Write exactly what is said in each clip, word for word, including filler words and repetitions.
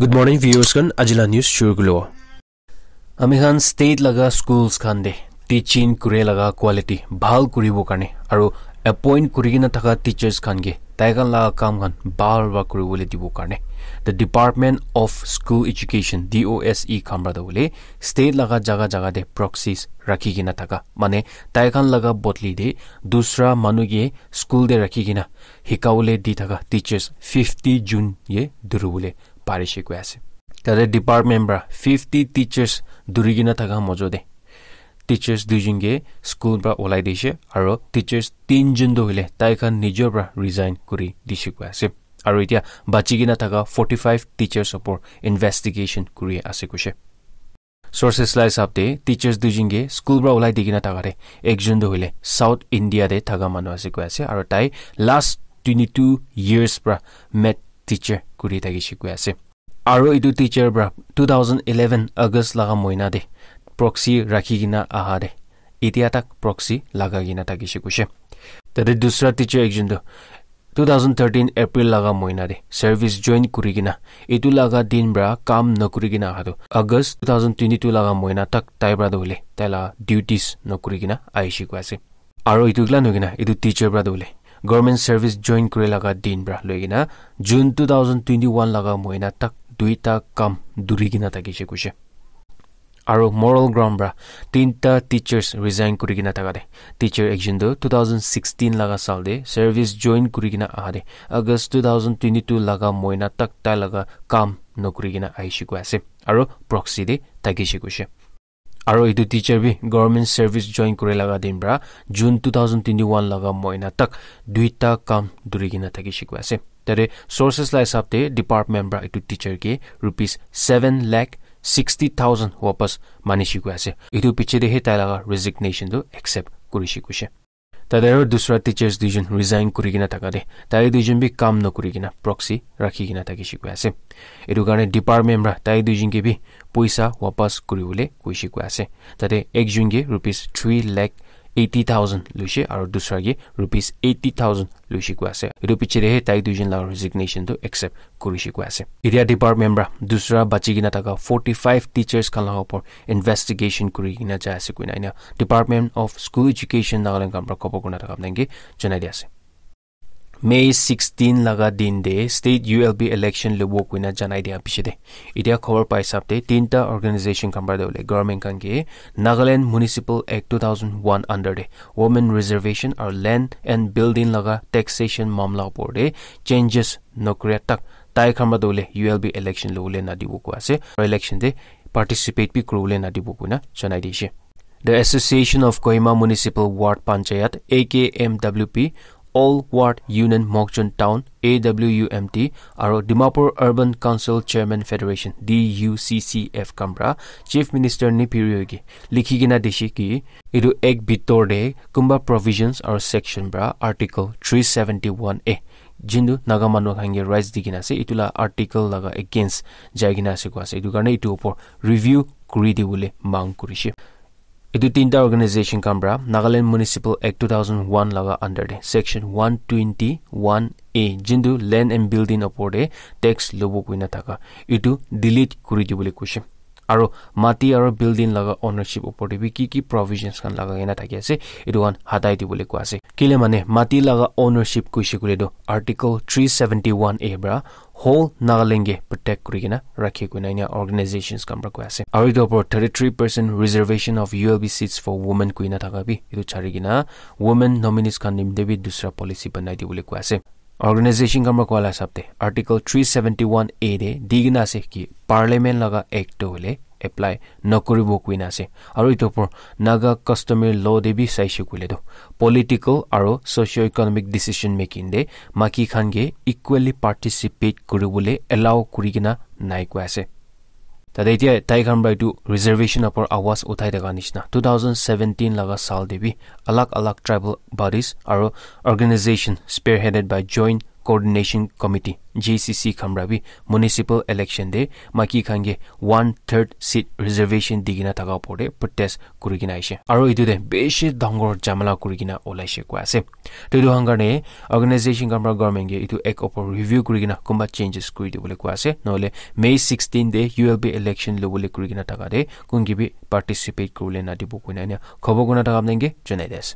Good morning, viewers khan. Ajila news shuru kulo. Ami khan state laga schools khan de teaching kure laga quality bhal kuribo karne aru appoint kuri kena thaka teachers khan ke tai khan laga kam khan bhal ba kuribole dibo karne the Department of School Education, D O S E, khan para de bole state laga jaga jaga de proxies rakhi kena thaka, mane tai khan laga bodli de dusra manu ke school de rakhi kena hikawole di thaka teachers fifty June ye duribole parishe koi ase. Tate department para fifty teachers duri kena thaka mojo de teachers duijun ke school para olai dishe, aro teachers tinjun toh hoile tai khan nijor para resign kuri dishe koi ase. Aro etia bachi kena thaka forty five teachers opor investigation kuri ase koishe. Sources la hisab te teachers duijun ke school para olai di kena thaka te ekjun toh hoile South India te thaka manu ase koi ase, aro tai last twenty two years para math teacher kuri thakishe koi ase. Aro etu teacher para two thousand eleven August laga moina te proxy rakhi kena aha te etia tak proxy laga kena thakishe koishe. Tate dusra teacher ekjun toh two thousand thirteen April laga moina te service join kuri kena etu laga din para kam nokuri kena aha toh August two thousand twenty two laga moina tak tai para toh hoile tai laga duties nokuri kena ahishe koi ase. Aro etu kila nokina etu teacher para toh hoile government service join kuri laga din para loi kena June two thousand twenty one laga moina tak duita kam duri kena thakishe koishe. Aro moral ground para tinta teachers resign kuri kena thaka te teacher ekjun toh two thousand sixteen laga sal te service join kuri kena aha te August two thousand twenty two laga moina tak tai laga kam nokuri kena ahishe koi ase aro proxy te thakishe koishe. Aro etu teacher bi government service join kuri laga din para June two thousand twenty one laga moina tak duita kam duri kena thakishe koi ase. Tate sources la hisab te department para etu teacher ke rupees seven lakh sixty thousand wapas manishe koi ase. Etu piche te he tai laga resignation tu accept kurishe koishe. Tate aro dusra teachers duijun resign kuri kena thaka te tai duijun bi kam nokuri kena proxy rakhi kena thakishe koi ase. Etu karne department para tai duijun ke bi poisa wapas kuribole koishe koi ase. Tate ekjun ke rupees three lakh eighty thousand loishe aro dusra ke rupees eighty thousand loishe koi ase. Etu piche te he tai duijun laga resignation tu accept kurishe koi ase. Etia department para dusra bachi kena thaka forty five teachers khan laga opor investigation kuri kena jai ase koina ena Department of School Education Nagaland khan para khobor kurina thaka apni khan ke janai di ase. May sixteen laga din te state U L B election lobo koina janai dia piche te etia khobor pai hisab te tinta organization khan para toh hoile government khan ke Nagaland Municipal Act two thousand one under te women reservation aru land and building laga taxation mamla opor te changes nokura tak tai khan para toh hoile U L B election lobole nadibo koi ase aru election te participate bi kuribole nadibo koina janai dishe. The Association of Kohima Municipal Ward Panchayat, A K M W P, All Ward Union Mokokchung Town, A W U M T, aro Dimapur Urban Council Chairman Federation, D U C C F, khan para Chief Minister Neiphiu Rio ke likhi kena dishe ki etu act bitor te kunba provisions aro section para Article three seventy one A, jintu Naga manu khan ke rights di kena ase, etu la article laga against jai kena ase koi ase. Etu karne etu opor review kuri dibole mang kurishe. Etu tinta organization khan para Nagaland Municipal Act two thousand one laga under te section one twenty one A, jintu land and building opor te tax lobo koina thaka, etu delete kuri dibole koishe. Aro mati aro building laga ownership opor te bi ki ki provisions khan lagai kena thaki ase, etu khan hatai dibole koi ase. Kile mane mati laga ownership koishe koile toh Article three seventy one A para whole Nagaland ke protect kuri kena rakhe koina enia organizations khan para koi ase. Aro etu opor thirty three percent reservation of U L B seats for women koina thaka bi etu chari kena women nominees khan nimite bi dusra policy banai dibole koi ase. Organization khan para koa la hisab te Article three seventy one A te di kena ase ki Parliament laga act toh hoile apply nokuribo koina ase. Aro etu opor Naga customary law te bi saishe koile toh political aro socio-economic decision making te maki khan ke equally participate kuribole allow kuri kena nai koi ase. Tate etia tai khan para etu reservation opor awaz uthai thaka nishina two thousand seventeen laga sal te bi alag alag tribal bodies aro organization spearheaded by Joint Coordination Committee, G C C khan para bi municipal election te maiki khan ke one third seat reservation di kena thaka opor te protest kuri kena aishe. Aro etu te bishi dangor jamala kuri kena olaishe koi ase. To etu khan karne organization khan para government ke etu act opor review kuri kena kunba changes kuri dibole koi ase. Nohole May sixteen te U L B election lobole kuri kena thaka te kun ke bi participate kuribole nadibo koina ena khobor kurina thaka apni ke janai di ase.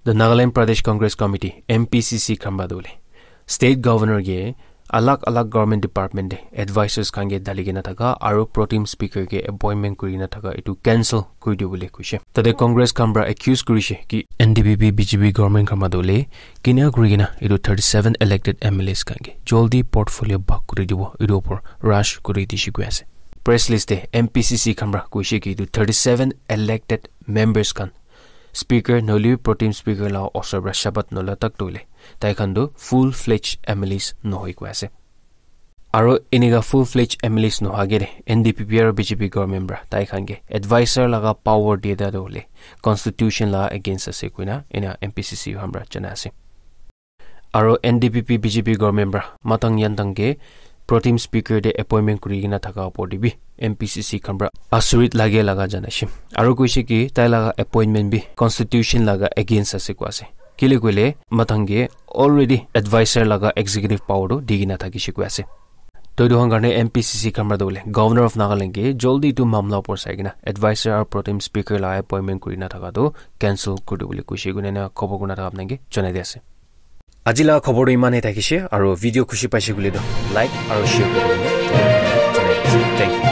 The Nagaland Pradesh Congress Committee, N P C C khan para tu hoile state governor ke alag alag government department te advisors khan ke dali kena thaka aro pro tem speaker ke appointment kuri kena thaka etu cancel kuri dibole koishe. Tate Congress khan para accuse kurishe ki N D P P B J P government khan para tu hoile kina kuri kena etu thirty seven elected M L As khan ke joldi portfolio bhag kuri dibo etu opor rush kuri dishe koi ase. Press list te N P C C khan para koishe ki etu thirty seven elected members khan speaker nohole pro tem speaker la osor para shabat nola tak tu hoile tai khan tu full fledged M L As nohoi koi ase. Aro enika full fledged M L As noha ke de N D P P aro B J P government para tai khan ke advisor laga power diya tu hoile constitution la against ase koina ena N P C C khan para janai ase. Aro N D P P B J P government para matang yantang ke pro tem speaker te appointment kuri kena thaka opor te bi N P C C khan para asurit lage laga janaishe. Aro koishe ki tai laga appointment bi constitution laga against ase koi ase. Kile koile matang ke already advisor laga executive power tu di kena thakishe koi ase. To etu khan karne N P C C khan para tu hoile Governor of Nagaland ke joldi etu mamla opor sai kena advisor aro pro tem speaker laga appointment kuri kena thaka tu cancel kuri dibole koishe koina ena khobor kurina thaka apni ke janai di ase. Aji laga khobor tu iman e thakishe aro video khushi paishe koile tu like aro share kuri dibole janai di ase. Thank you.